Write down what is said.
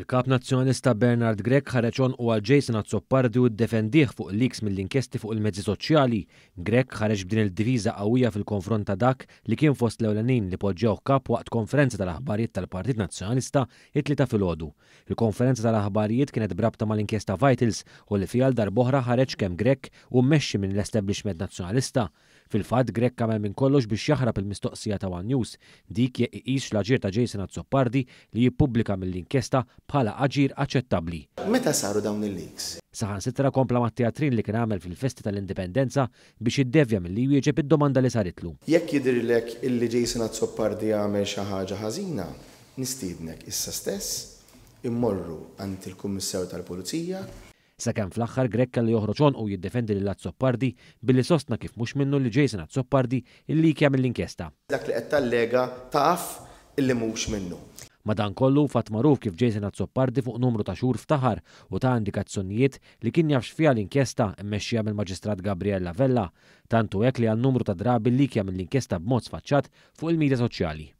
Il-Kap Nazzjonalista Bernard Grech ħareġ għonqu għal Jason Azzopardi u ddefendih fuq leaks mill-inkjesti fuq il-mezzi soċjali. Grech ħareġ b'din il-difiża qawwija fil-konfront ta' dak li kien fost l-ewlenin li poġġewh Kap waqt konferenza tal-aħbarijiet tal-Partit Nazzjonalista it-Tlieta filgħodu. Il-konferenza tal-aħbarijiet kienet b'rabta mal-inkjesta Vitals u li fiha għal darb'oħra ħareġ kemm Grech hu mmexxi minn l-establishment Nazzjonalista. Fil-fatt, Grech għamel minn kollox biex jaħrab il-mistoqsija ta' one News, dik jekk iqisx l-aġir ta' Jason Azzopardi li jippubblika mill-inkjesta bħala aġir aċċettabbli. Meta saru dawn il-leaks? Saħansitra kompla mat-teatrin li kien għamel fil-festi tal-Indipendenza biex jiddevja milli jwieġeb id-domanda li saritlu. Jekk jidhirlek illi Jason Azzopardi għamel xi ħaġa ħażina, nistiednek issa stess immorru għand il-Kummissarju tal-Pulizija. Sakemm fl-aħħar Grech kellu joħroġ għonqu u jiddefendi lil Azzopardi billi sostna kif mhux minnu li Jason Azzopardi illikja mill-inkjesta. Dak li qed tallega taf illi mhux minnu. Madankollu, fatt magħruf kif Jason Azzopardi fuq numru ta' xhur ftaħar u ta indikazzjonijiet li kien jaf x'fiha l-inkjesta mmexxija mill-Maġistrat Gabriella Vella. Tant hu hekk li għal numru ta' drabi llikja mill-inkjesta b'mod sfaċċat fuq il-midja soċjali.